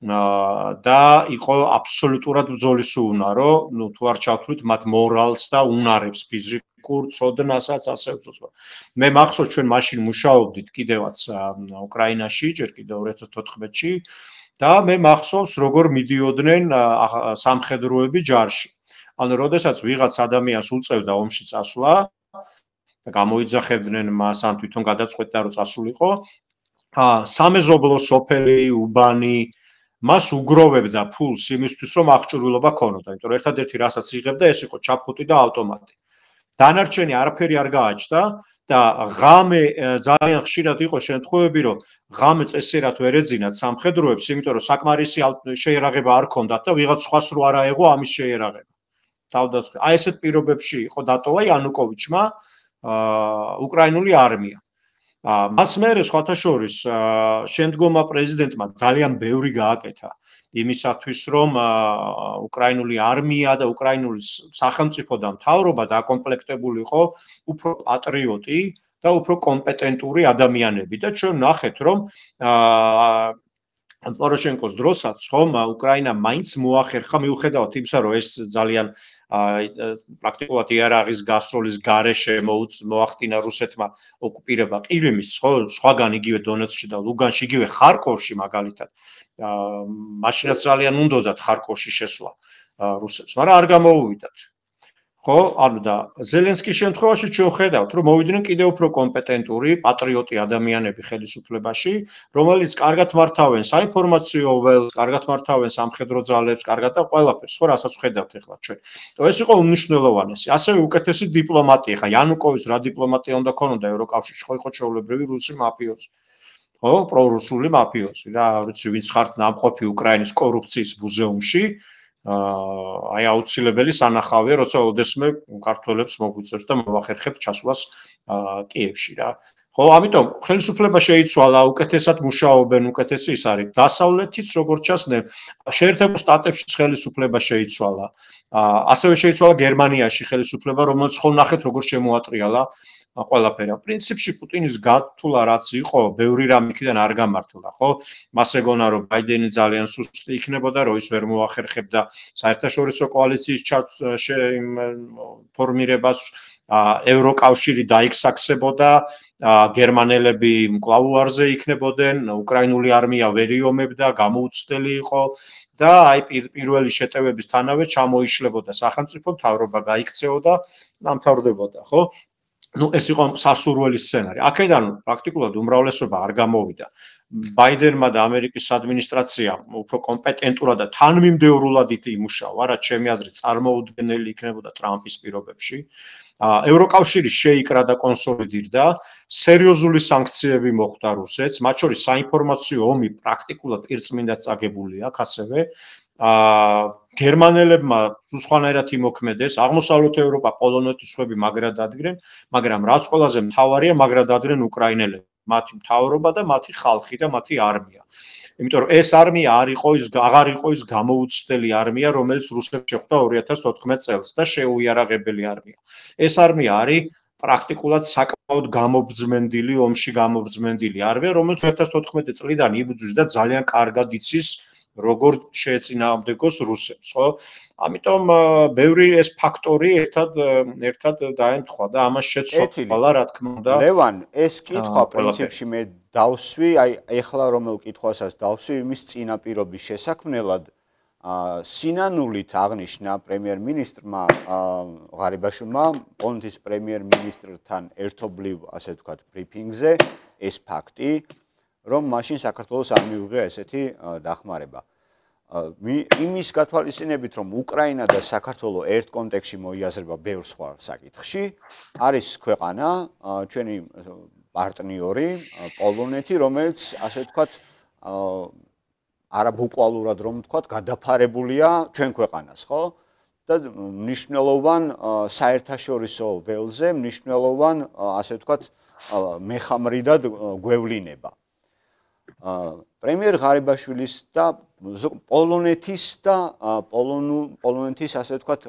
Speaker 12: და იყო აბსოლუტურად ბრძოლის უნარო, ნუ თუ არ ჩავთვლით მათ მორალს და უნარებს, ფიზიკურ ცოდნასაც ასე უწევს. მე მახსოვს ჩვენ მაშინ მუშაობდით კიდევაც უკრაინაში, ჯერ კიდევ 2014-ში და მე მახსოვს როგორ მიდიოდნენ სამხედროები ჯარში. ანუ როდესაც ვიღაც ადამიანს უწევდა ომში წასვლა და გამოიძახებდნენ მას ან თვითონ გადაწყვეტდა რომ წასულიყო, სამეზობლო სოფელი, უბანი მას უგროვებდა ფულს იმისთვის რომ აღჭურვილობა ქონოდა, იმიტომ რომ ერთადერთი რასაც იღებდა ეს იყო ჩაფხუტი და ავტომატი. დანარჩენი არაფერი არ გააჩნდა და ღამე ძალიან ხშირად იყო შემთხვევები, რომ ღამე წესიერად ვერ ეძინათ სამხედროებს, იმიტომ რომ საკმარისი შეერაღება არ ქონდათ და ვიღაც სხვას რო არ აეღო ამის შეერაღება. თავდასხმა. აი ესეთ პირობებში იყო დატოვა იანუკოვიჩმა უკრაინული არმია. მას მერე სხვათა შორის შემდგომმა პრეზიდენტმა ძალიან ბევრი გააკეთა იმისათვის, რომ უკრაინული არმია და უკრაინული სახელმწიფო და მთავრობა დაკომპლექტებულიყო უფრო პატრიოტი და უფრო კომპეტენტური ადამიანები და ჩვენ ნახეთ, რომ პოროშენკოს დროსაც ხომ უკრაინა მაინც მოახერხა მიუხედავად იმისა, რომ ეს ძალიან პრაქტიკულად იარაღის გასროლის გარეშე მოახდინა რუსეთმა ოკუპირება ყირიმის, ხო, სხვაგან იგივე დონეცკში და ლუგანში, იგივე ხარკოვში მაგალითად. მაშინაც ძალიან უნდოდათ ხარკოვში შესვლა რუსებს, მაგრამ არ გამოუვიდათ. ხო, ანუ და ზელენსკის შემთხვევაში ჩვენ ხედავთ, რომ მოვიდნენ კიდევ უფრო კომპეტენტური, პატრიოტი ადამიანები ხელისუფლებაში, რომელიც კარგად მართავენ საინფორმაციო ველს, კარგად მართავენ სამხედრო ძალებს, კარგად და ყველაფერს, ხო, რასაც ხედავთ ახლა ჩვენ. ეს იყო უმნიშვნელოვანესი. ასევე უკეთესი დიპლომატია. ხა იანუკოვის რა დიპლომატია უნდა ქონოდა ევროკავშირში, ხო, იყო ჩვეულებრივი რუსი მაფიოზი. ხო, პრორუსული მაფიოზი რა, ვიცი, ვინც ხართ ნამყოფი უკრაინის კორუფციის მუზეუმში. აი აუცილებელი სანახავია, როცა ოდესმე ქართველებს მოგვიწევს და მოახერხებთ ჩასვლას კიევში რა. ხო, ამიტომ ხელისუფლება შეიცვალა, უკეთესად მუშაობენ, უკეთესი ის არის. დასავლეთიც როგორც ჩანს, შეერთებულ შტატებში ხელისუფლება შეიცვალა. ასევე შეიცვალა გერმანიაში ხელისუფლება, რომელიც ხო ნახეთ როგორ შემოატრიალა ყველაფერი. პრინციპში პუტინის გათვლა რაც იყო, ბევრი რამ იქიდან არ გამართლა, ხო? მას ეგონა რომ ბაიდენი ძალიან სუსტი იქნებოდა, რომ ის ვერ მოახერხებდა საერთაშორისო კოალიციის ფორმირებას, ევროკავშირი დაიქსაქსებოდა, გერმანელები მკლავუარზე იქნებოდნენ, უკრაინული არმია ვერ იომებდა, გამოუცდელი იყო და აი პირველი შეტევებისთანავე ჩამოიშლებოდა სახელმწიფო მთავრობა, გაიქცეოდა, დამთავრდებოდა, ხო? Ну, ეს იყო სასურველი სცენარი. აქედან პრაქტიკულად უმრავლესობა არ გამოვიდა. ბაიდენმა და ამერიკის ადმინისტრაციამ უფრო კომპეტენტურად და თანმიმდევრულად იმუშავა, რაც ჩემი აზრით წარმოუდგენელი იქნებოდა ტრამპის პირობებში. ევროკავშირი შეიკრა და კონსოლიდირდა, სერიოზული სანქციები მოხდა რუსეთს, მათ შორის საინფორმაციო ომი პრაქტიკულად პირწმინდად წაგებული აქვს ასევე. გერმანელებმა სხვანაირად იმოქმედეს, აღმოსავლეთ ევროპა, პოლონეთის სხვები მაგრად ადგნენ, მაგრამ რაც ყველაზე მთავარია, მაგრად ადგნენ უკრაინელები, მათი მთავრობა და მათი ხალხი და მათი არმია. იმიტომ რომ ეს არმია აღარ იყო ის გამოუცდელი არმია, რომელიც რუსებს შეხვდა 2014 წელს და შეუიარაღებელი არმია. ეს არმია არის პრაქტიკულად საკმაოდ გამობრძმენდილი, ომში გამობრძმენდილი არმია, რომელიც 2014 წლიდან იბრძვის და ძალიან კარგად იცის როგორ შეეწინააღმდეგოს რუსებს, ხო? ამიტომ ბევრი ეს ფაქტორი ერთად დაემთხვა და ამას შეცვალა, რა თქმა უნდა.
Speaker 1: ლევან, ეს კითხვა პრინციპში მე დავსვი, აი ეხლა რომელ კითხვასაც დავსვი იმის წინაპირობის შესაქმნელად, სინანულით აღნიშნა პრემიერ-მინისტრმა ღარიბაშვილმა პოლონეთის პრემიერ-მინისტრთან ერთობლივ, ასე ვთქვათ, ბრიფინგზე ეს ფაქტი, რომ მაშინ საქართველოს არ მიუღია ესეთი დახმარება. იმის გათვალისწინებით, რომ უკრაინა და საქართველო ერთ კონტექსტში მოიაზრება ბევრ სხვა საკითხში, არის ქვეყანა, ჩვენი პარტნიორი, პოლონეთი, რომელიც, ასე ვთქვათ, არაბუკვალურად რომ ვთქვათ, გადაფარებულია ჩვენ ქვეყანას, ხო? და მნიშვნელოვან საერთაშორისო ველზე, მნიშვნელოვან, ასე ვთქვათ, მეხამრიდად გვევლინება. პრემიერ ღარიბაშვილის და პოლონეთის და პოლონეთის ასე ვთქვათ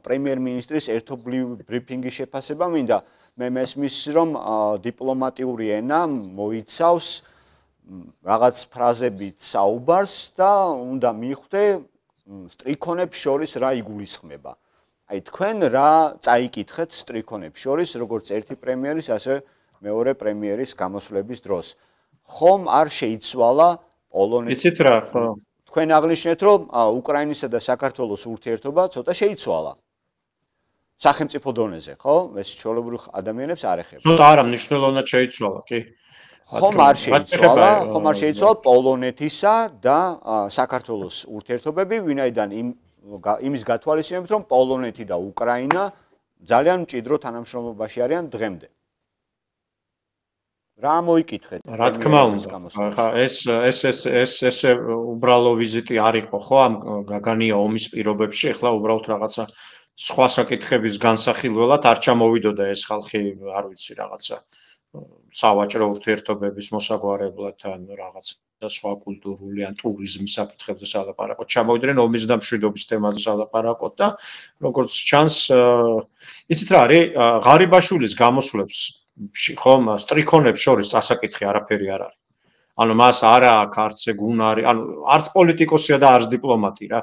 Speaker 1: პრემიერ-მინისტრის ერთობლივ ბრიფინგის შეფასება მინდა მე მესმის რომ დიპლომატიური ენა მოიცავს რაღაც ფრაზებით საუბარს და უნდა მიხვდე სტრიქონებს შორის რა იგულისხმება. აი თქვენ რა წაიკითხეთ სტრიქონებს შორის როგორც ერთი პრემიერის ასე მეორე პრემიერის გამოსვლების დროს. ხომ არ შეიცვალა პოლონეთის.
Speaker 12: იცით რა, ხო.
Speaker 1: თქვენ აღნიშნეთ, რომ უკრაინისა და საქართველოს ურთიერთობა ცოტა შეიცვალა. სახელმწიფო დონეზე, ხო? ეს ჩვეულებრივ ადამიანებს არ ეხება.
Speaker 12: ცოტა არა, მნიშვნელოვნად შეიცვალა, კი.
Speaker 1: ხომ არ შეიცვალა პოლონეთისა და საქართველოს ურთიერთობები, ვინაიდან იმის გათვალისწინებით, რომ პოლონეთი და უკრაინა ძალიან მჭიდრო თანამშრომლობაში არიან დღემდე. რა მოიკითხეთ?
Speaker 12: რა თქმა უნდა, ხა ეს უბრალო ვიზიტი არ იყო ხო ამ გაგანია ომის პირობებში, ახლა უბრალოდ რაღაცა სხვა საკითხების განსახილველად არ ჩამოვიდოდა ეს ხალხი, არ ვიცი, რაღაცა სავაჭრო ურთიერთობების მოსაგვარებლად ან რაღაცა სხვა კულტურული ან ტურიზმის საკითხებზე სალაპარაკოდ ჩამოვიდნენ ომის და მშვიდობის თემაზე სალაპარაკოდ და როგორც ჩანს იცით რა არის ღარიბაშვილის გამოსვლებს ხომ სტრიქონებს შორის ასაკითხი არაფერი არ არის ანუ მას არა აქვს არც გუნარი ანუ არც პოლიტიკოსია და არც დიპლომატი რა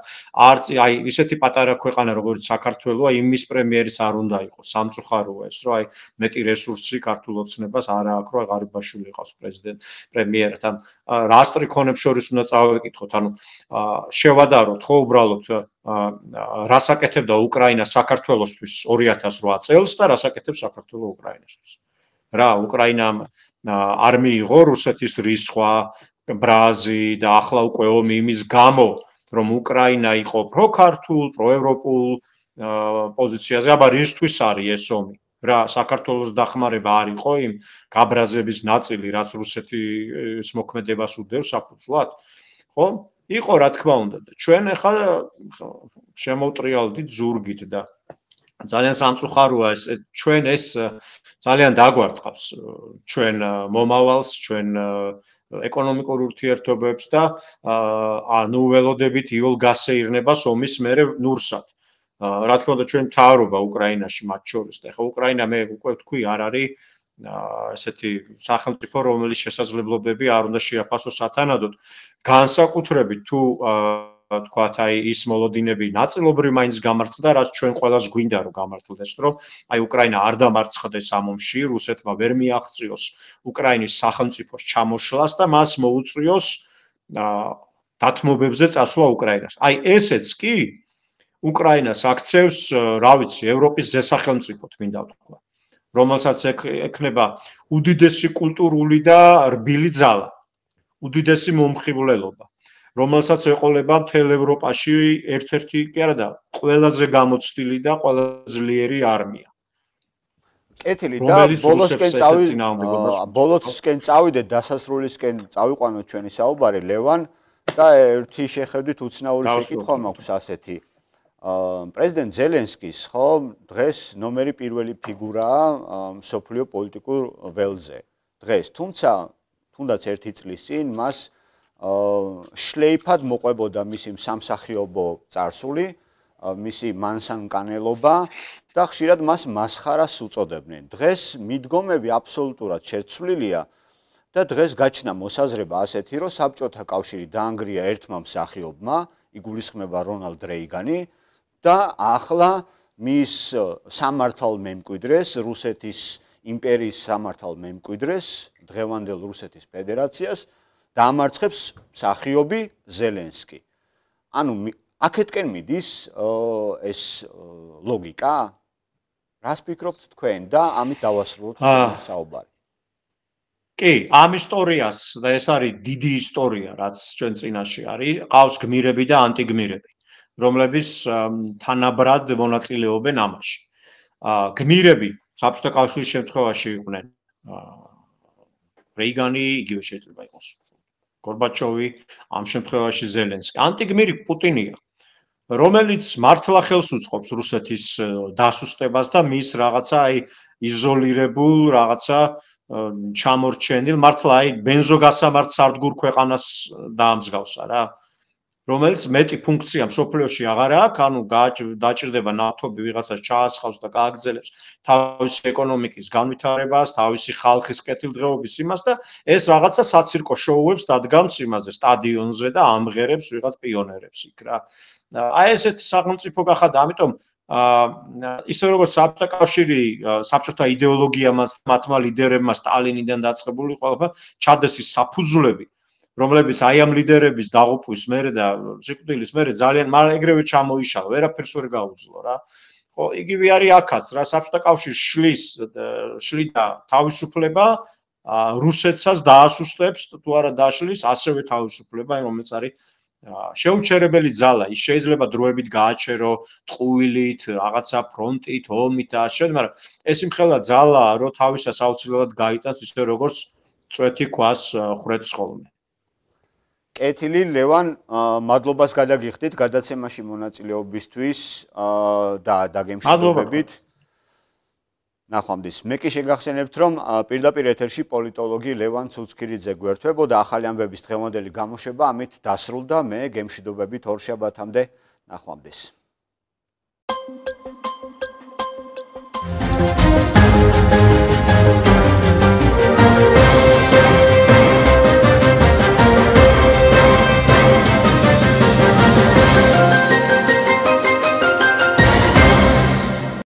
Speaker 12: არც აი ისეთი პატარა ქვეყანა როგორც საქართველოა იმის პრემიერის არ უნდა იყოს სამწუხაროა ეს რომ აი მეტი რესურსი ქართულ ოცნებას არ აქვს რომ ღარიბაშვილი იყოს პრემიერად ან რა სტრიქონებს შორის უნდა წავეკითხოთ ანუ შევადაროთ ხო უბრალოდ რას აკეთებდა უკრაინა საქართველოსთვის 2008 წელს და რას აკეთებს საქართველოს უკრაინასთვის რა უკრაინამ არ მიიღო რუსეთის რისხვა, ბრაზი და ახლა უკვე ომი იმის გამო, რომ უკრაინა იყო პროქართულ, პროევროპულ პოზიციაზე, აბა რისთვის არის ეს ომი? რა საქართველოს დახმარება არ იყო იმ გაბრაზების ნაწილი, რაც რუსეთის მოქმედებას უდევს საფუძვლად? ხო? იყო რა თქმა უნდა და ჩვენ ახლა შემოვტრიალდით ზურგით და ძალიან სამწუხაროა ეს ჩვენ ეს ძალიან დაგვარტყავს ჩვენ მომავალს, ჩვენ ეკონომიკურ ურთიერთობებს და ანუ ველოდებით იოლ გასეირნებას ომის მერე ნურსად. რა თქმა უნდა ჩვენ მთავრობა უკრაინაში მათ შორის და ხო უკრაინა მე უკვე ვთქვი არ არის ესეთი სახელმწიფო რომელიც შესაძლებლობები არ უნდა შეაფასოს სათანადოდ განსაკუთრებით თუ თქვათ აი ის მოლოდინები ნაწილობრივ მაინც გამართლდა რაც ჩვენ ყველას გვინდა რომ გამართლდეს რომ აი უკრაინა არ დამარცხდეს ამ ომში რუსეთმა ვერ მიაღწიოს უკრაინის სახელმწიფოს ჩამოშლას და მას მოუწვიოს დათმობებზე წასვლა უკრაინას აი ესეც კი უკრაინას აქცევს რა ვიცი ევროპის ზესახელმწიფოდ მინდა ვთქვა რომელსაც ექნება უდიდესი კულტურული და რბილი ძალა უდიდესი მომხიბვლელობა რომელსაც ეყოლება მთელ ევროპაში ერთ-ერთი კი არა და ყველაზე გამოცდილი და ყველაზე ძლიერი არმია.
Speaker 1: კეთილი და ბოლოსკენ წავიდეთ დასასრულისკენ წავიყვანოთ ჩვენი საუბარი ლევან და ერთი შეხედვით უცნაური შეკითხვა მაქვს ასეთი. პრეზიდენტ ზელენსკის ხო დღეს ნომერი პირველი ფიგურაა მსოფლიო პოლიტიკურ ველზე. დღეს თუმცა თუნდაც ერთი წლის წინ მას შლეიფად მოყვებოდა მისი სამსახიობო წარსული, მისი მანსანკანელობა და ხშირად მას მასხარას უწოდებდნენ. დღეს მიდგომები აბსოლუტურად შეცვლილია და დღეს გაჩნდა მოსაზრება ასეთი, რომ საბჭოთა კავშირი დაანგრია ერთმა მსახიობმა, იგულისხმება რონალდ რეიგანი და ახლა მის სამართალ მემკვიდრეს, რუსეთის იმპერიის სამართალ მემკვიდრეს, დღევანდელ რუსეთის ფედერაციას დაამარცხებს მსახიობი ზელენსკი. ანუ აქეთკენ მიდის ეს ლოგიკა? რას ფიქრობთ თქვენ და ამით დავასრულოთ საუბარი?
Speaker 12: კი, ამ ისტორიას და ეს არის დიდი ისტორია, რაც ჩვენ წინაშე არის, ყავს გმირები და ანტიგმირები, რომლებიც თანაბრად მონაწილეობენ ამაში. გმირები საბჭოთა კავშირის შემთხვევაში იყვნენ რეიგანი, იგივე შეიძლება იყოს გორბაჩოვი, ამ შემთხვევაში ზელენსკი. ანტიგმირი პუტინია, რომელიც მართლა ხელს უწყობს რუსეთის დასუსტებას და მის რაღაცა აი იზოლირებულ რაღაცა ჩამორჩენილ მართლა აი ბენზოგასამართ სარდგურ ქვეყანას დაამსგავსა რა. რომელიც მეტი ფუნქცია მსოფლიოში აღარ აქვს, ანუ დაჭირდება ნავთობი ვიღაცას ჩაასხავს და გააგრძელებს თავისი ეკონომიკის განვითარებას, თავისი ხალხის კეთილდღეობის იმას და ეს რაღაცა საცირკო შოუებს დადგამს იმაზე სტადიონზე და ამღერებს ვიღაც პიონერებს იქ რა. აი ესეთი სახელმწიფო გახადა, ამიტომ ისე როგორც საბჭოთა კავშირი, საბჭოთა იდეოლოგიამაც, მათმა ლიდერებმა სტალინიდან დაწყებული ყველაფერი ჩადეს ის საფუძვლები რომლებიც აი ამ ლიდერების დაღუპვის მერე და სიკვდილის მერე ძალიან ეგრევე ჩამოიშალა, ვერაფერს ვერ გაუძლო რა. ხო, იგივე არის აქაც რა, საბჭოთა კავშირი შლიდა თავისუფლება, რუსეთსაც დაასუსტებს, თუ არა დაშლის, ასევე თავისუფლება, რომელიც არის შეუჩერებელი ძალა. ის შეიძლება დროებით გააჩერო ტყუილით, რაღაცა ფრონტით, ომით და ასე, მაგრამ ეს იმხელა ძალაა, რომ თავისას აუცილებლად გაიტანს ისე როგორც წვეთი ქვას ხრეთს ხოლმე.
Speaker 1: კეთილი ლევან, მადლობას გადაგიხდით გადაცემაში მონაწილეობისთვის და დაგემშვიდობებით. ნახვამდის. მე კი შეგახსენებთ, რომ პირდაპირ ეთერში პოლიტოლოგი ლევან ცუცქირიძე გვერდებოდა ახალი ამბების დღევანდელი გამოშვება ამით დასრულდა. მე გემშვიდობებით ორშაბათამდე. ნახვამდის.